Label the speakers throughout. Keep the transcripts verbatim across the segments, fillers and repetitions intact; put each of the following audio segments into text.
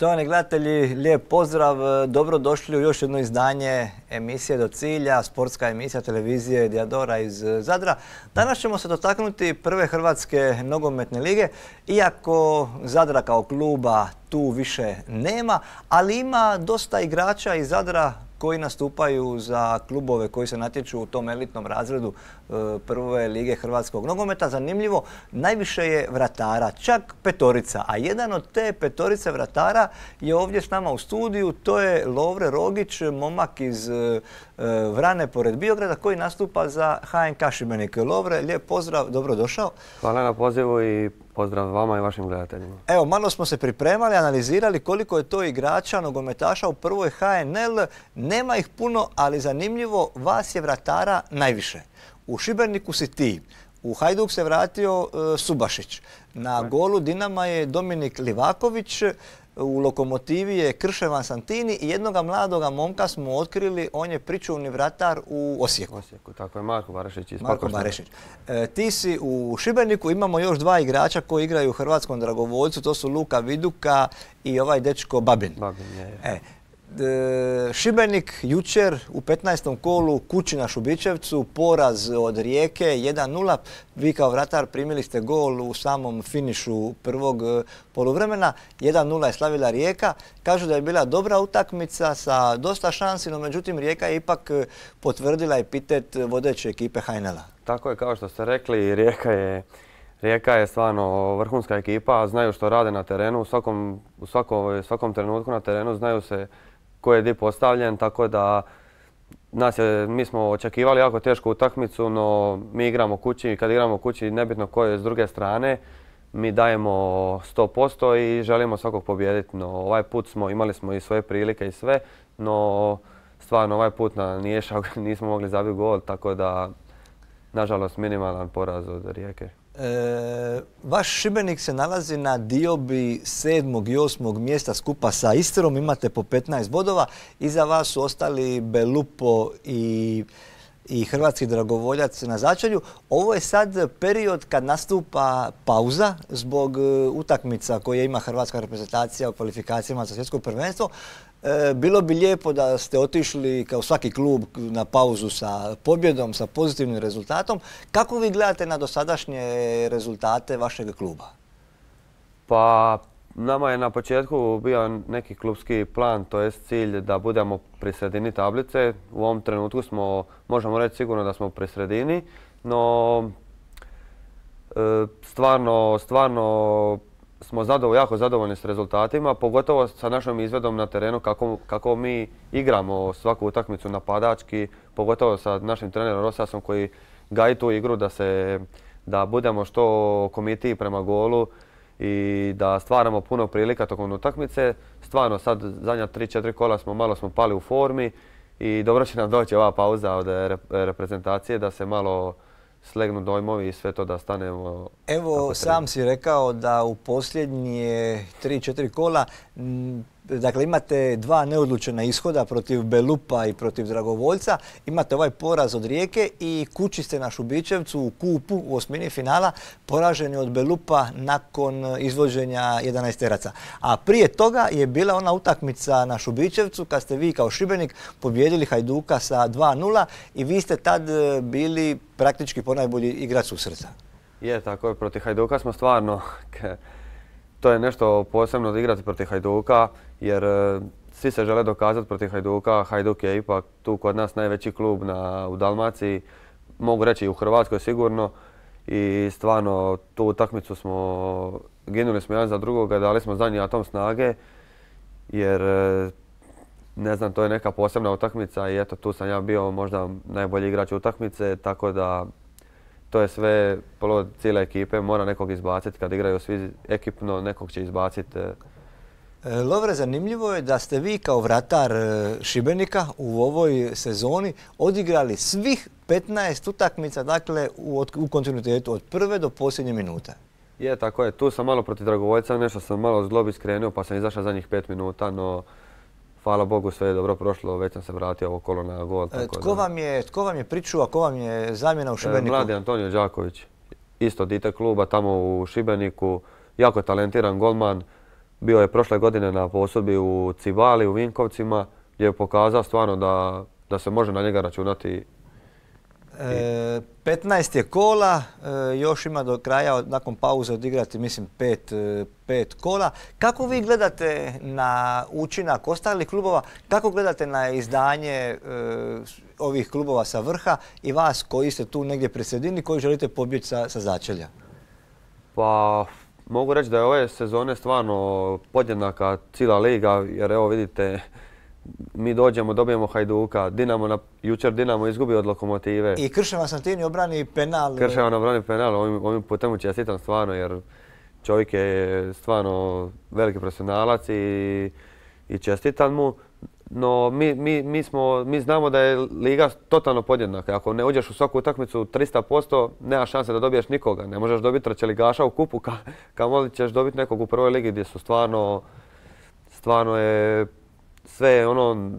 Speaker 1: Štovani gledatelji, lijep pozdrav, dobrodošli u još jedno izdanje emisije Do cilja, sportska emisija televizije Diadora iz Zadra. Danas ćemo se dotaknuti prve Hrvatske nogometne lige, iako Zadra kao kluba tu više nema, ali ima dosta igrača iz Zadra koji nastupaju za klubove koji se natječu u tom elitnom razredu prve lige hrvatskog nogometa. Zanimljivo, najviše je vratara, čak petorica, a jedan od te petorice vratara je ovdje s nama u studiju, to je Lovre Rogić, momak iz Vrane pored Biograda koji nastupa za H N K Šibenik. Lovre, lijep pozdrav, dobrodošao.
Speaker 2: Hvala na pozivu i pozdrav vama i vašim gledateljima.
Speaker 1: Evo, malo smo se pripremali, analizirali koliko je to igrača, nogometaša u prvoj H N L. Nema ih puno, ali zanimljivo, vas je vratara najviše. U Šibeniku si ti, u Hajduk se vratio e, Subašić, na golu Dinama je Dominik Livaković, u Lokomotivi je Krševan Santini i jednoga mladoga momka smo otkrili, on je pričuvni vratar u Osijeku.
Speaker 2: Osijeku, tako je, Marko Barešić iz
Speaker 1: Marko Barešić. E, ti si u Šibeniku, imamo još dva igrača koji igraju u Hrvatskom Dragovoljcu, to su Luka Viduka i ovaj dečko Babin.
Speaker 2: Babin je, je.
Speaker 1: E, Šibenik jučer u petnaestom kolu kući na Šubićevcu, poraz od Rijeke jedan nula. Vi kao vratar primili ste gol u samom finišu prvog poluvremena. jedan nula je slavila Rijeka. Kažu da je bila dobra utakmica sa dosta šansi, no međutim Rijeka je ipak potvrdila epitet vodeće ekipe H N L-a.
Speaker 2: Tako je, kao što ste rekli, Rijeka je, Rijeka je stvarno vrhunska ekipa, znaju što rade na terenu, u svakom, u svakom, svakom trenutku na terenu znaju se ko je di postavljen, tako da nas je, mi smo očekivali jako tešku utakmicu, no mi igramo kući i kad igramo kući, nebitno ko je s druge strane, mi dajemo sto posto i želimo svakog pobijediti. No ovaj put smo, imali smo i svoje prilike i sve, no stvarno ovaj put na Niješak nismo mogli zabiti gol, tako da nažalost minimalan poraz od Rijeke.
Speaker 1: E, vaš Šibenik se nalazi na diobi sedmog i osmog mjesta skupa sa Istrom, imate po petnaest bodova. Iza vas su ostali Belupo i, i Hrvatski Dragovoljac na začelju. Ovo je sad period kad nastupa pauza zbog utakmica koje ima hrvatska reprezentacija u kvalifikacijama za svjetsko prvenstvo. E, bilo bi lijepo da ste otišli kao svaki klub na pauzu sa pobjedom, sa pozitivnim rezultatom. Kako vi gledate na dosadašnje rezultate vašeg kluba?
Speaker 2: Pa nama je na početku bio neki klubski plan, to jest cilj da budemo pri sredini tablice. U ovom trenutku smo, možemo reći sigurno da smo pri sredini, no e, stvarno, stvarno smo zadovoljni, jako zadovoljni s rezultatima, pogotovo sa našom izvedom na terenu kako, kako mi igramo svaku utakmicu napadački, pogotovo sa našim trenerom Rosasom koji gaji tu igru da, se, da budemo što komitiji prema golu i da stvaramo puno prilika tokom utakmice. Stvarno sad zadnja tri četiri kola smo malo smo pali u formi i dobro će nam doći ova pauza od reprezentacije da se malo slegnu dojmovi i sve to da stanemo.
Speaker 1: Evo, sam si rekao da u posljednje tri četiri kola dakle, imate dva neodlučena ishoda protiv Belupa i protiv Dragovoljca. Imate ovaj poraz od Rijeke i kući ste na Šubićevcu u kupu u osmini finala poraženi od Belupa nakon izvođenja jedanaesteraca. A prije toga je bila ona utakmica na Šubićevcu kad ste vi kao Šibenik pobijedili Hajduka sa dva nula i vi ste tad bili praktički ponajbolji igrač susreta.
Speaker 2: Je, tako je. Protiv Hajduka smo stvarno... To je nešto posebno da igrati protiv Hajduka, jer svi se žele dokazati protiv Hajduka. Hajduk je ipak tu kod nas najveći klub na, u Dalmaciji, mogu reći i u Hrvatskoj sigurno. I stvarno tu utakmicu smo, ginuli smo jedan za drugoga, dali smo zadnji atom snage, jer ne znam, to je neka posebna utakmica i eto tu sam ja bio možda najbolji igrač utakmice, tako da to je sve plod cijele ekipe, mora nekog izbaciti. Kad igraju svi ekipno, nekog će izbaciti.
Speaker 1: Lovre, zanimljivo je da ste vi kao vratar Šibenika u ovoj sezoni odigrali svih petnaest utakmica, dakle u, u kontinuitetu od prve do posljednje minute.
Speaker 2: Je, tako je. Tu sam malo protiv Dragovoljca, nešto sam malo zglobi skrenuo pa sam izašao zadnjih pet minuta, no hvala Bogu sve je dobro prošlo, već sam se vratio ovo kolo na gol.
Speaker 1: Tako tko, vam je, tko vam je pričuva, ko vam je zamjena u Šibeniku?
Speaker 2: Mladi Antonio Đaković, isto dite kluba tamo u Šibeniku, jako talentiran golman, Bio je prošle godine na posudbi u Cibali, u Vinkovcima, gdje je pokazao stvarno da, da se može na njega računati.
Speaker 1: E, petnaest je kola, e, još ima do kraja nakon pauze odigrati mislim pet, e, pet kola. Kako vi gledate na učinak ostalih klubova, kako gledate na izdanje e, ovih klubova sa vrha i vas koji ste tu negdje pri sredini koji želite pobjeći sa, sa začelja?
Speaker 2: Pa mogu reći da je ove sezone stvarno podjednaka cijela liga, jer evo vidite, mi dođemo, dobijemo Hajduka, Dinamo na, jučer Dinamo izgubi od Lokomotive.
Speaker 1: I Krševan Santini obrani penal.
Speaker 2: Krševan obrani penal, ovim, ovim putem mu čestitam stvarno, jer čovjek je stvarno veliki profesionalac i, i čestitam mu. No mi, mi, mi, smo, mi znamo da je liga totalno podjednaka. Ako ne uđeš u svaku utakmicu tristo posto, nema šanse da dobiješ nikoga. Ne možeš dobiti trećeligaša u kupu, ka, kamoli ćeš dobiti nekog u prvoj ligi gdje su stvarno, stvarno je sve ono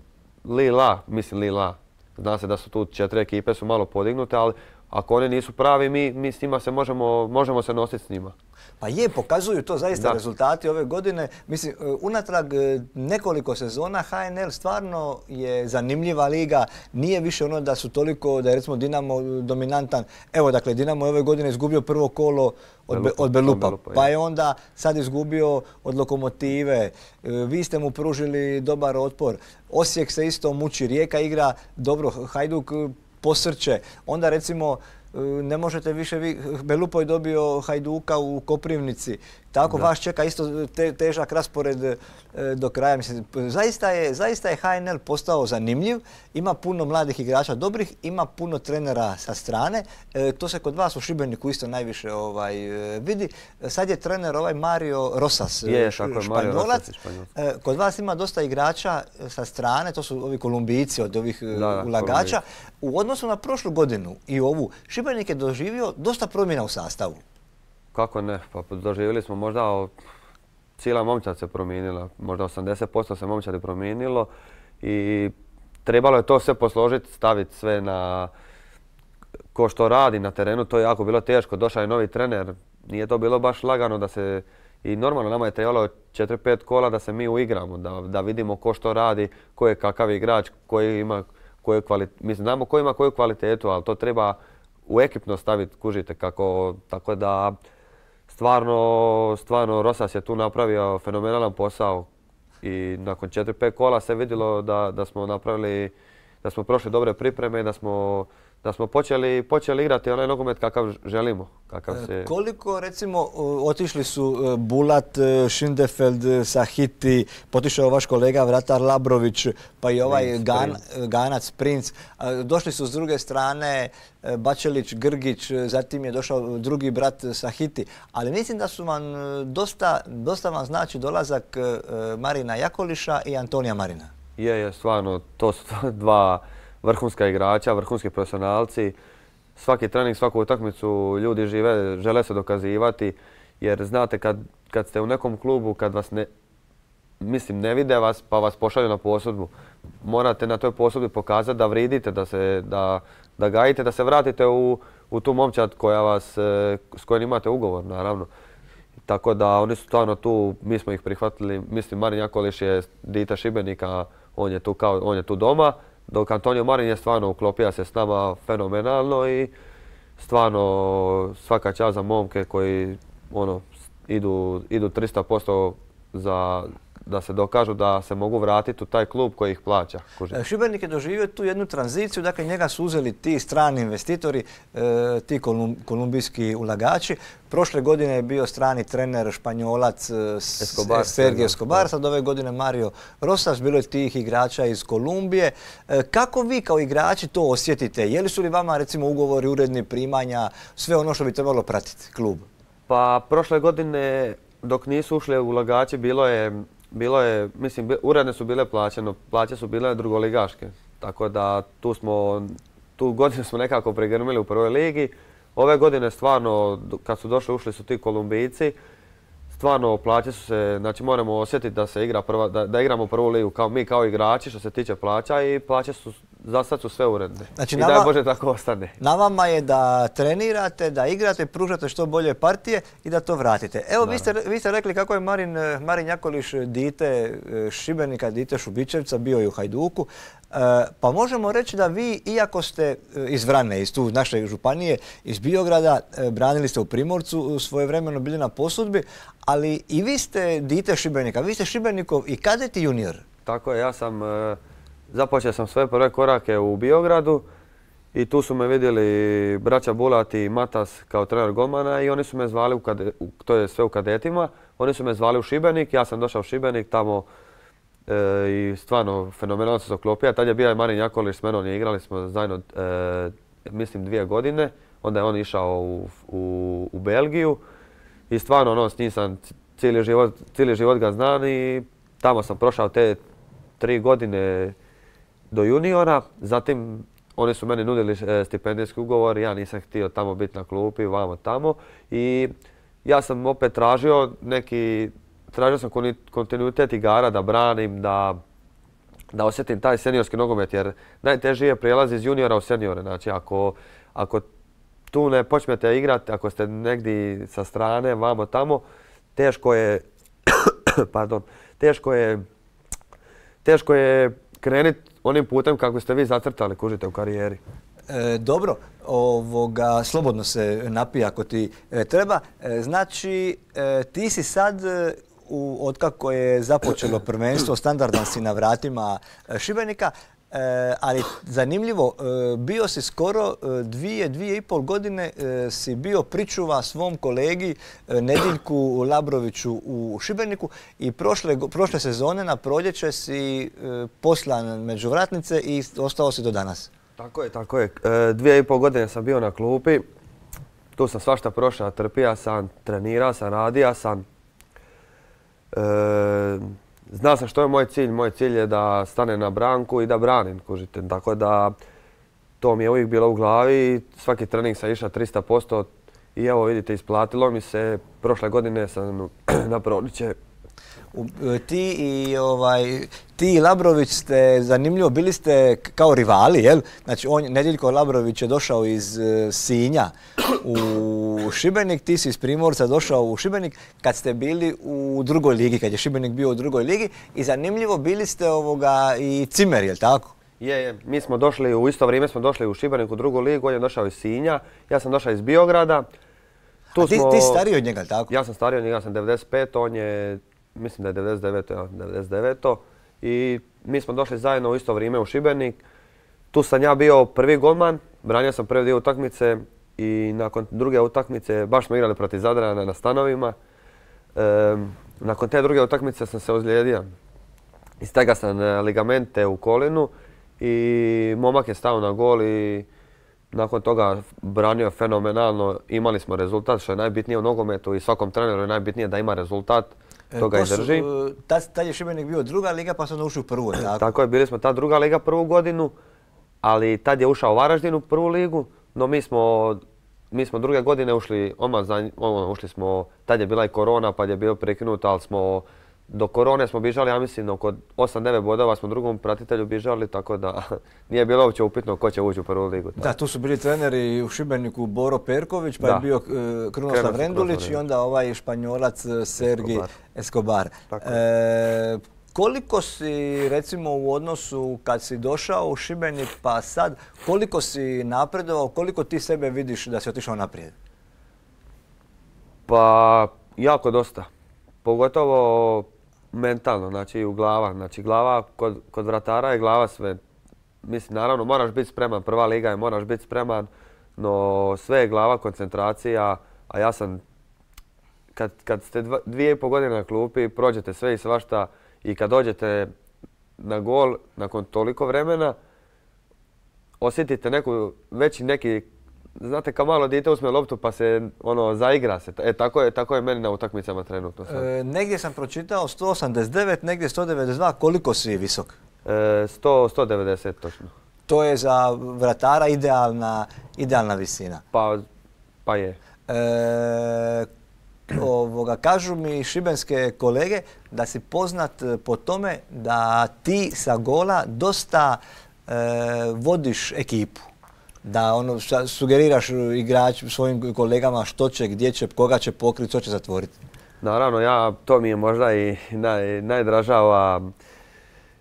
Speaker 2: li-la, mislim li-la. Zna se da su tu četiri ekipe su malo podignute, ali ako one nisu pravi, mi, mi s njima se možemo, možemo se nositi s njima.
Speaker 1: Pa je, pokazuju to zaista
Speaker 2: da.
Speaker 1: Rezultati ove godine. Mislim, unatrag nekoliko sezona H N L stvarno je zanimljiva liga. Nije više ono da su toliko, da je recimo Dinamo dominantan. Evo, dakle, Dinamo je ove godine izgubio prvo kolo od, Belupa, od Belupa, Belupa pa je onda sad izgubio od Lokomotive. Vi ste mu pružili dobar otpor. Osijek se isto muči, Rijeka igra dobro, Hajduk posrće. Onda recimo ne možete više, vi, Belupo je dobio Hajduka u Koprivnici. Tako da. Vas čeka isto te, težak raspored e, do kraja. Mislim, zaista, je, zaista je H N L postao zanimljiv, ima puno mladih igrača dobrih, ima puno trenera sa strane. E, to se kod vas u Šibeniku isto najviše ovaj, vidi. Sad je trener ovaj Mario Rosas,
Speaker 2: je, Španjolac.
Speaker 1: E, kod vas ima dosta igrača sa strane, to su ovi Kolumbijci od ovih da, da, ulagača. U odnosu na prošlu godinu i ovu, Šibenik je doživio dosta promjena u sastavu.
Speaker 2: Kako ne, pa doživjeli smo možda, cijela momčad se promijenila, možda osamdeset posto se momčadi promijenilo i trebalo je to sve posložiti, staviti sve na ko što radi na terenu, to je jako bilo teško, došao je novi trener, nije to bilo baš lagano da se, i normalno nama je trebalo četiri pet kola da se mi uigramo, da, da vidimo ko što radi, ko je kakav igrač, koji ima koju kvalitetu, mislim znamo ko ima koju kvalitetu, ali to treba u ekipno staviti, kužite kako, tako da stvarno, stvarno Rosas je tu napravio fenomenalan posao i nakon četiri pet kola se vidjelo da, da smo napravili, da smo prošli dobre pripreme i da smo, da smo počeli, počeli igrati onaj nogomet kakav želimo. Kakav se...
Speaker 1: Koliko recimo otišli su Bulat, Šindefeld, Sahiti, potišao vaš kolega vratar Labrović, pa i ovaj Princ, Gan, Princ. Ganac, Princ. Došli su s druge strane Bačelić, Grgić, zatim je došao drugi brat Sahiti. Ali mislim da su vam dosta, dosta vam znači dolazak Marina Jakoliša i Antonija Marina.
Speaker 2: Je, je, stvarno, to su dva vrhunska igrača, vrhunski profesionalci. Svaki trening, svaku utakmicu ljudi žive, žele se dokazivati. Jer znate, kad, kad ste u nekom klubu, kad vas ne, mislim, ne vide vas, pa vas pošalju na posudbu, morate na toj posudbi pokazati da vridite, da, se, da, da gajite, da se vratite u, u tu momčad koja vas, s kojom imate ugovor, naravno. Tako da oni su stvarno tu, mi smo ih prihvatili. Mislim, Marin Jakoliš je dite Šibenika, on je tu, kao, on je tu doma. Dok Antonio Marin je stvarno uklopio se s nama fenomenalno i stvarno svaka čast za momke koji ono, idu, idu tristo posto za, da se dokažu da se mogu vratiti u taj klub koji ih plaća. Kužite.
Speaker 1: Šibenik je doživio tu jednu tranziciju, dakle njega su uzeli ti strani investitori, e, ti kolum, kolumbijski ulagači. Prošle godine je bio strani trener Španjolac
Speaker 2: Escobar,
Speaker 1: Sergio Escobar, sad ove godine Mario Rosas, bilo je tih igrača iz Kolumbije. E, kako vi kao igrači to osjetite? Je li su li vama recimo ugovori, uredni primanja, sve ono što bi trebalo pratiti klub?
Speaker 2: Pa prošle godine dok nisu ušli ulagači bilo je Bilo je, mislim, uredne su bile plaće, no plaće su bile drugoligaške. Tako da tu smo, tu godinu smo nekako pregrmili u prvoj ligi. Ove godine stvarno, kad su došli, ušli su ti Kolumbijci, stvarno plaće su se, znači moramo osjetiti da se igra prva, da, da igramo prvu ligu kao mi kao igrači što se tiče plaća i plaće su za sad su sve uredne.
Speaker 1: Znači,
Speaker 2: I
Speaker 1: nama-
Speaker 2: daj Bože tako ostane.
Speaker 1: Na vama je da trenirate, da igrate, pružate što bolje partije i da to vratite. Evo, vi ste, vi ste rekli kako je Marin, eh, Marin Jakolić dite eh, Šibenika, dite Šubićevca, bio je u Hajduku. Eh, Pa možemo reći da vi, iako ste eh, iz Vrane, iz tu naše županije, iz Biograda, eh, branili ste u Primorcu, svojevremeno bili na posudbi, ali i vi ste dite Šibenika, vi ste Šibenikov i kadet i junior.
Speaker 2: Tako je, ja sam, e, započeo sam svoje prve korake u Biogradu i tu su me vidjeli braća Bulat i Matas kao trener golmana i oni su me zvali, u kade, u, to je sve u kadetima, oni su me zvali u Šibenik, ja sam došao u Šibenik tamo e, i stvarno fenomenalno se zaklopio. Tad je bio i Marin Jakolić, s menom je igrali smo zajedno, e, mislim, dvije godine, onda je on išao u, u, u Belgiju i stvarno ono, s njim sam cijeli život, cijeli život ga znam i tamo sam prošao te tri godine do juniora, zatim oni su meni nudili e, stipendijski ugovor, ja nisam htio tamo biti na klupi, vamo tamo i ja sam opet tražio neki, tražio sam koni- kontinuitet igara da branim, da, da osjetim taj seniorski nogomet jer najteže je prijelaz iz juniora u seniore, znači ako, ako tu ne počnete igrati, ako ste negdje sa strane, vamo tamo, teško je, pardon, teško je, teško je krenuti onim putem kako ste vi zacrtali, kužite, u karijeri.
Speaker 1: E, dobro, ovoga, slobodno se napij ako ti e, treba. E, znači, e, ti si sad, e, u, otkako je započelo prvenstvo, standardan si na vratima e, Šibenika, e, ali zanimljivo, e, bio si skoro e, dvije, dvije i pol godine e, si bio pričuva svom kolegi e, Nediljku Labroviću u Šibeniku i prošle, go- prošle sezone na proljeće si e, poslan među vratnice i ostao si do danas.
Speaker 2: Tako je, tako je. E, dvije i pol godine sam bio na klupi, tu sam svašta prošao, trpija sam, trenirao sam, radio sam. E, znao sam što je moj cilj, moj cilj je da stanem na branku i da branim, kužite. Tako da to mi je uvijek bilo u glavi i svaki trening sam išao tristo posto i evo vidite, isplatilo mi se. Prošle godine sam na proljeće.
Speaker 1: U- e, Ti i, ovaj, ti i Labrović ste, zanimljivo, bili ste k- kao rivali, jel? Znači, on, Nediljko Labrović je došao iz e, Sinja u Šibenik, ti si iz Primorca došao u Šibenik kad ste bili u drugoj ligi, kad je Šibenik bio u drugoj ligi i zanimljivo, bili ste ovoga i cimer, jel tako?
Speaker 2: Je, je, mi smo došli, u isto vrijeme smo došli u Šibenik u drugu ligu, on je došao iz Sinja, ja sam došao iz Biograda. Tu
Speaker 1: A ti,
Speaker 2: smo-
Speaker 1: ti si stariji od njega, jel tako?
Speaker 2: Ja sam stariji od njega, ja sam devedeset pet, on je, mislim da je devedeset devet, ja, devedeset devet. I mi smo došli zajedno u isto vrijeme u Šibenik. Tu sam ja bio prvi golman, branio sam prve dvije utakmice i nakon druge utakmice, baš smo igrali protiv Zadrana na stanovima. Ehm, nakon te druge utakmice sam se ozlijedio. Istegao sam e, ligamente u kolinu i momak je stao na gol i nakon toga branio je fenomenalno. Imali smo rezultat, što je najbitnije u nogometu i svakom treneru je najbitnije da ima rezultat,
Speaker 1: E,
Speaker 2: to ga i
Speaker 1: su,
Speaker 2: drži.
Speaker 1: e, Tad, tad je Šibenik bio druga liga pa su onda ušli u prvu, jel tako?
Speaker 2: Tako je, bili smo ta druga liga prvu godinu, ali tad je ušao Varaždin u prvu ligu, no mi smo, mi smo druge godine ušli, odmah za, ono, ušli smo, tad je bila i korona pa je bilo prekinuto, ali smo do korone smo bježali, ja mislim, oko osam devet bodova smo drugom pratitelju bježali, tako da nije bilo uopće upitno ko će ući u prvu ligu.
Speaker 1: Da, tu su bili treneri u Šibeniku Boro Perković, pa
Speaker 2: Da.
Speaker 1: je bio e, Krunoslav
Speaker 2: Krunoslav
Speaker 1: Rendulić i
Speaker 2: Rendulić.
Speaker 1: onda ovaj Španjolac e, Sergi
Speaker 2: Escobar.
Speaker 1: Escobar.
Speaker 2: Tako
Speaker 1: E, koliko si, recimo, u odnosu kad si došao u Šibenik pa sad, koliko si napredovao, koliko ti sebe vidiš da si otišao naprijed?
Speaker 2: Pa jako dosta, pogotovo mentalno, znači u glava. Znači glava, kod, kod vratara je glava sve. Mislim, naravno moraš biti spreman, prva liga je, moraš biti spreman, no sve je glava, koncentracija, a ja sam, kad, kad ste dva, dvije i pol godine na klupi, prođete sve i svašta i kad dođete na gol nakon toliko vremena, osjetite neku, veći neki, znate, kao malo dijete uzme loptu pa se ono zaigra se. E tako je, tako je meni na utakmicama trenutno sad.
Speaker 1: E, negdje sam pročitao sto osamdeset devet, negdje sto devedeset dva, koliko si visok?
Speaker 2: E, sto, sto devedeset točno.
Speaker 1: To je za vratara idealna, idealna visina.
Speaker 2: Pa, pa je.
Speaker 1: E, ovoga, kažu mi šibenske kolege da si poznat po tome da ti sa gola dosta vodiš ekipu, da ono sugeriraš igrač svojim kolegama što će, gdje će, koga će pokriti, što će zatvoriti?
Speaker 2: Naravno, ja, to mi je možda i naj, najdražava.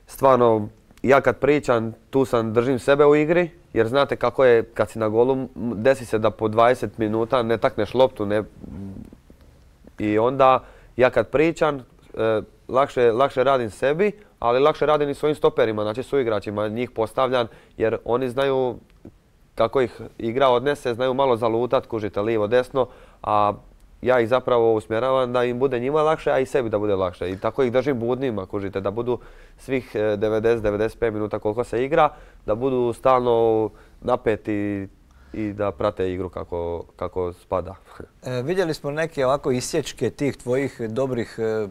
Speaker 2: Stvarno, ja kad pričam, tu sam, držim sebe u igri, jer znate kako je kad si na golu, desi se da po dvadeset minuta ne takneš loptu. Ne, I onda ja kad pričam, e, lakše, lakše radim sebi, ali lakše radim i svojim stoperima, znači suigračima, njih postavljam jer oni znaju kako ih igra odnese, znaju malo zalutat, kužite lijevo, desno, a ja ih zapravo usmjeravam da im bude njima lakše, a i sebi da bude lakše. I tako ih držim budnima, kužite, da budu svih devedeset do devedeset pet minuta koliko se igra, da budu stalno napeti i da prate igru kako, kako spada.
Speaker 1: E, vidjeli smo neke ovako isječke tih tvojih dobrih e,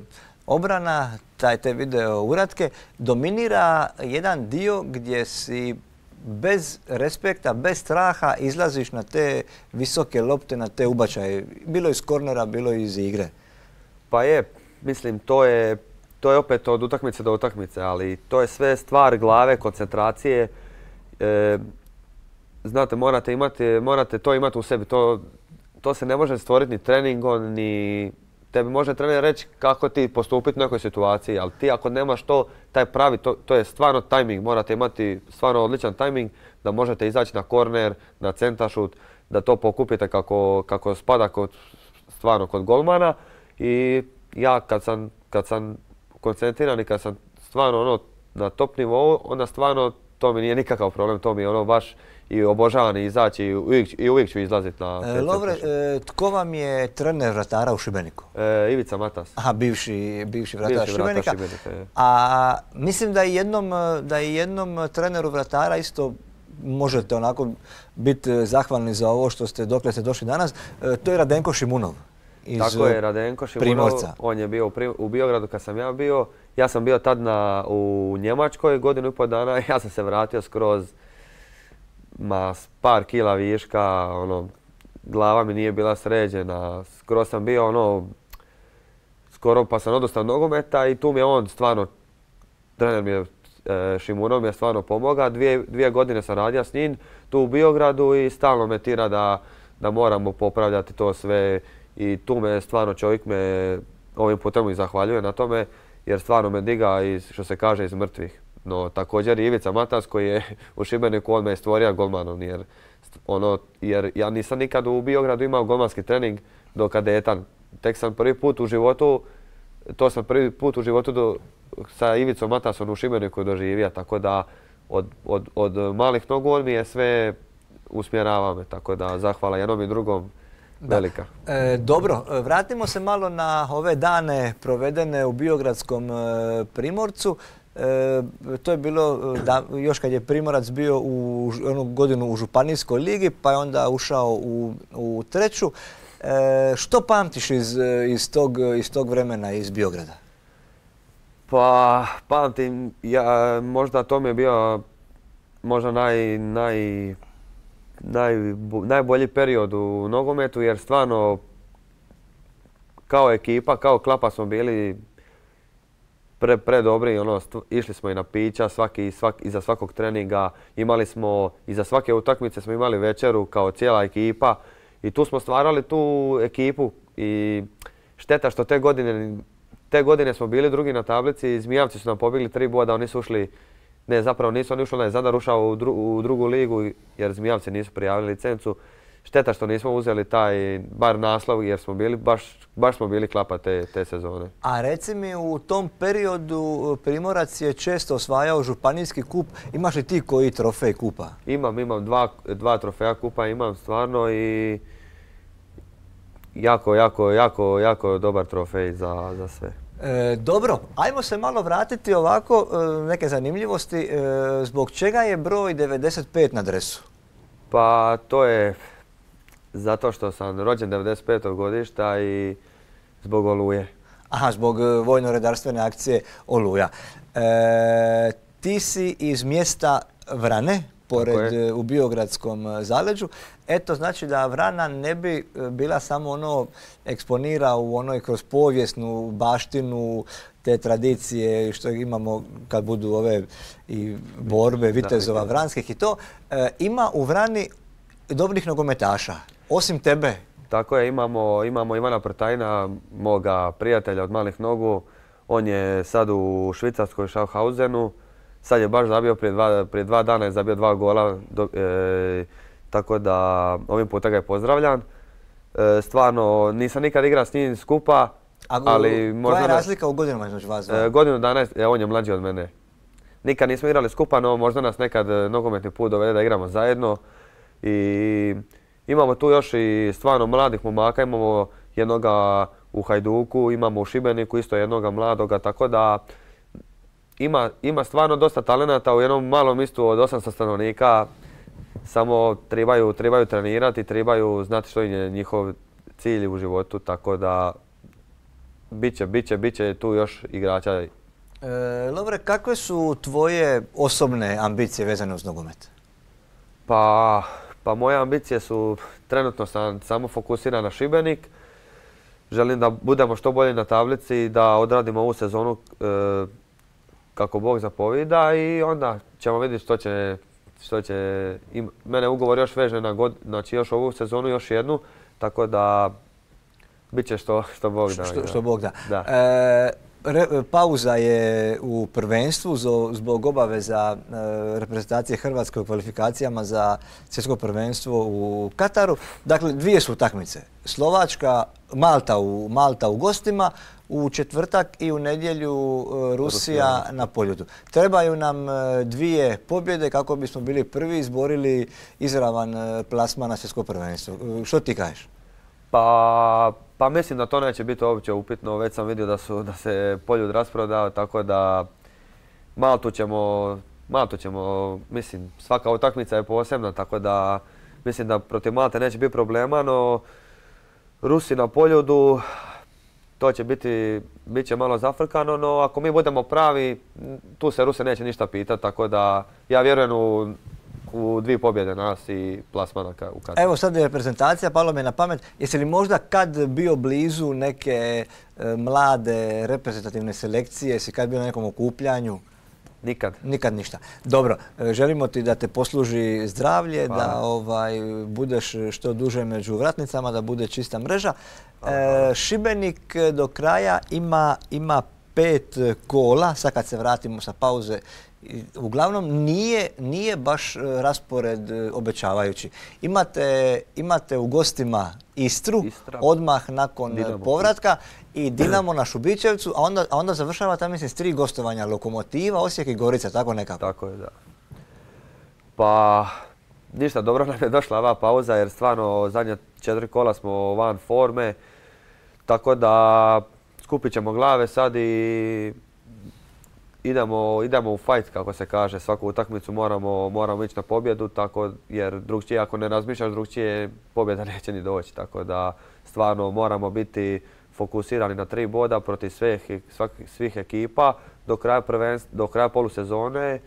Speaker 1: obrana, taj te video uratke. Dominira jedan dio gdje si bez respekta, bez straha izlaziš na te visoke lopte, na te ubačaje. Bilo iz kornera, bilo iz igre.
Speaker 2: Pa je, mislim, to je, to je opet od utakmice do utakmice, ali to je sve stvar glave, koncentracije. E, znate, morate, imati, morate to imati u sebi. To, to se ne može stvoriti ni treningom, ni... Tebi može trener reći kako ti postupiti u nekoj situaciji, ali ti ako nemaš to, taj pravi, to, to je stvarno tajming, morate imati stvarno odličan tajming da možete izaći na korner, na centaršut, da to pokupite kako, kako spada kod, stvarno kod golmana. I ja kad sam, kad sam koncentriran i kad sam stvarno ono, na top nivou, onda stvarno to mi nije nikakav problem, to mi je ono baš i obožavam izaći i uvijek, i uvijek ću izlaziti na
Speaker 1: e, Lovre, e, tko vam je trener vratara u Šibeniku?
Speaker 2: E, Ivica Matas.
Speaker 1: Aha, bivši, bivši vratar
Speaker 2: bivši
Speaker 1: Šibenika.
Speaker 2: Vratar Šibenika.
Speaker 1: A mislim da i jednom, da i jednom treneru vratara isto možete onako biti zahvalni za ovo što ste, dokle ste došli danas. E, to je Radenko Šimunov. Iz
Speaker 2: Tako je, Radenko Šimunov.
Speaker 1: Primorca.
Speaker 2: On je bio u, Prim, u Biogradu kad sam ja bio. Ja sam bio tad na, u Njemačkoj godinu i pol dana. Ja sam se vratio skroz ma par kila viška, ono, glava mi nije bila sređena, skoro sam bio ono, skoro pa sam odustao nogometa i tu mi je on stvarno, trener mi je, e, Šimunov mi je stvarno pomogao, dvije, dvije godine sam radio s njim tu u Biogradu i stalno me tira da, da moramo popravljati to sve i tu me stvarno čovjek me ovim putem i zahvaljuje na tome jer stvarno me diga iz, što se kaže, iz mrtvih. No također i Ivica Matas koji je u Šibeniku, on me je stvorio golmanom jer, ono, jer ja nisam nikad u Biogradu imao golmanski trening do kadetan. Tek sam prvi put u životu, to sam prvi put u životu do, sa Ivicom Matasom u Šibeniku doživio, tako da od, od, od malih nogu on mi je sve usmjerava me, tako da zahvala jednom i drugom velika.
Speaker 1: E, dobro, vratimo se malo na ove dane provedene u Biogradskom e, Primorcu. E, to je bilo da, još kad je Primorac bio u onu godinu u Županijskoj ligi, pa je onda ušao u, u treću. E, što pamtiš iz, iz, tog, iz tog vremena iz Biograda?
Speaker 2: Pa pamtim, ja, možda to mi je bio možda naj, naj, naj, najbolji period u nogometu jer stvarno kao ekipa, kao klapa smo bili Pre, pre dobri, ono, išli smo i na pića, svaki, svak, iza svakog treninga, imali smo, iza svake utakmice smo imali večeru kao cijela ekipa i tu smo stvarali tu ekipu i šteta što te godine, te godine smo bili drugi na tablici i Zmijavci su nam pobjegli tri boda, oni su ušli, ne zapravo nisu oni ušli, onaj Zadar ušao u, dru, u drugu ligu jer Zmijavci nisu prijavili licencu. Šteta što nismo uzeli taj bar naslov jer smo bili, baš, baš smo bili klapa te, te sezone.
Speaker 1: A reci mi, u tom periodu Primorac je često osvajao županijski kup. Imaš li ti koji trofej kupa?
Speaker 2: Imam, imam dva, dva trofeja kupa, imam stvarno i jako, jako, jako, jako dobar trofej za, za sve.
Speaker 1: E, dobro, ajmo se malo vratiti ovako, e, neke zanimljivosti. E, zbog čega je broj devedeset pet na dresu?
Speaker 2: Pa to je zato što sam rođen devedeset petog godišta i zbog Oluje.
Speaker 1: Aha, zbog vojno-redarstvene akcije Oluja. E, ti si iz mjesta Vrane, pored u Biogradskom zaleđu. Eto, znači da Vrana ne bi bila samo ono eksponira u onoj kroz povijesnu baštinu te tradicije što imamo kad budu ove i borbe vitezova vranskih i to. E, ima u Vrani dobrih nogometaša, osim tebe.
Speaker 2: Tako je, imamo, imamo Ivana Prtajna, moga prijatelja od malih nogu. On je sad u Švicarskoj Schaffhausenu. Sad je baš zabio, prije dva, prije dva dana je zabio dva gola. Do, e, tako da ovim puta ga je pozdravljan. E, stvarno, nisam nikad igrao s njim skupa.
Speaker 1: A
Speaker 2: ali
Speaker 1: koja je razlika u godinama između vas dva?
Speaker 2: E, godinu dana, je, on je mlađi od mene. Nikad nismo igrali skupa, no možda nas nekad nogometni put dovede da igramo zajedno. I imamo tu još i stvarno mladih momaka, imamo jednoga u Hajduku, imamo u Šibeniku isto jednoga mladoga, tako da ima, ima stvarno dosta talenata u jednom malom mjestu od osamsto stanovnika. Samo trebaju, trebaju trenirati, trebaju znati što je njihov cilj u životu, tako da biće, biće, biće tu još igrača.
Speaker 1: E, Lovre, kakve su tvoje osobne ambicije vezane uz nogomet?
Speaker 2: Pa, pa moje ambicije su, trenutno sam samo fokusiran na Šibenik. Želim da budemo što bolji na tablici, da odradimo ovu sezonu e, kako Bog zapovida i onda ćemo vidjeti što će, što će im, mene ugovor još veže na god, znači još ovu sezonu, još jednu, tako da bit će što, što Bog da.
Speaker 1: Što, što Bog da.
Speaker 2: da.
Speaker 1: E, re, pauza je u prvenstvu zbog obaveza e, reprezentacije Hrvatske u kvalifikacijama za svjetsko prvenstvo u Kataru. Dakle, dvije su utakmice. Slovačka, Malta u, Malta u gostima, u četvrtak i u nedjelju e, Rusija, Rusija na poljudu. Trebaju nam e, dvije pobjede kako bismo bili prvi izborili izravan e, plasman na svjetsko prvenstvo. E, što ti kažeš?
Speaker 2: Pa, pa mislim da to neće biti uopće upitno. Već sam vidio da, su, da se poljud rasprodao, tako da Maltu ćemo, Maltu ćemo, mislim, svaka utakmica je posebna, tako da mislim da protiv Malte neće biti problema, no Rusi na poljudu, to će biti, bit će malo zafrkano, no ako mi budemo pravi, tu se Rusi neće ništa pitati, tako da ja vjerujem u u dvije pobjede nas i plasmana u Kataru.
Speaker 1: Evo sad je reprezentacija, palo mi na pamet. Jesi li možda kad bio blizu neke e, mlade reprezentativne selekcije, jesi kad bio na nekom okupljanju?
Speaker 2: Nikad.
Speaker 1: Nikad ništa. Dobro, e, želimo ti da te posluži zdravlje, hvala. Da ovaj, budeš što duže među vratnicama, da bude čista mreža. E, Šibenik do kraja ima, ima pet kola, sad kad se vratimo sa pauze. Uglavnom nije, nije baš raspored obećavajući. Imate, imate u gostima Istru, Istra. Odmah nakon Dinamo. Povratka i Dinamo na Šubićevcu, a onda, a onda završava tamo mislim s tri gostovanja, Lokomotiva, Osijek i Gorica, tako nekako.
Speaker 2: Tako je, da. Pa ništa, dobro nam je došla ova pauza jer stvarno zadnje četiri kola smo van forme, tako da skupit ćemo glave sad i Idemo, idemo u fight, kako se kaže, svaku utakmicu moramo, moramo ići na pobjedu, tako, jer drugčije, ako ne razmišljaš drugčije, pobjeda neće ni doći. Tako da stvarno moramo biti fokusirani na tri boda protiv svih, svak, svih ekipa do kraja, do kraja polusezone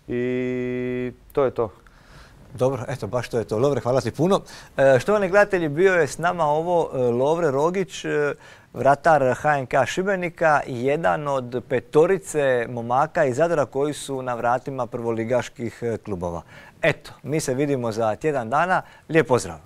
Speaker 2: i to je to.
Speaker 1: Dobro, eto, baš to je to. Lovre, hvala ti puno. E, štovani gledatelji, bio je s nama ovo e, Lovre Rogić, e, vratar H N K Šibenika, jedan od petorice momaka iz Zadra koji su na vratima prvoligaških klubova. Eto, mi se vidimo za tjedan dana. Lijep pozdrav!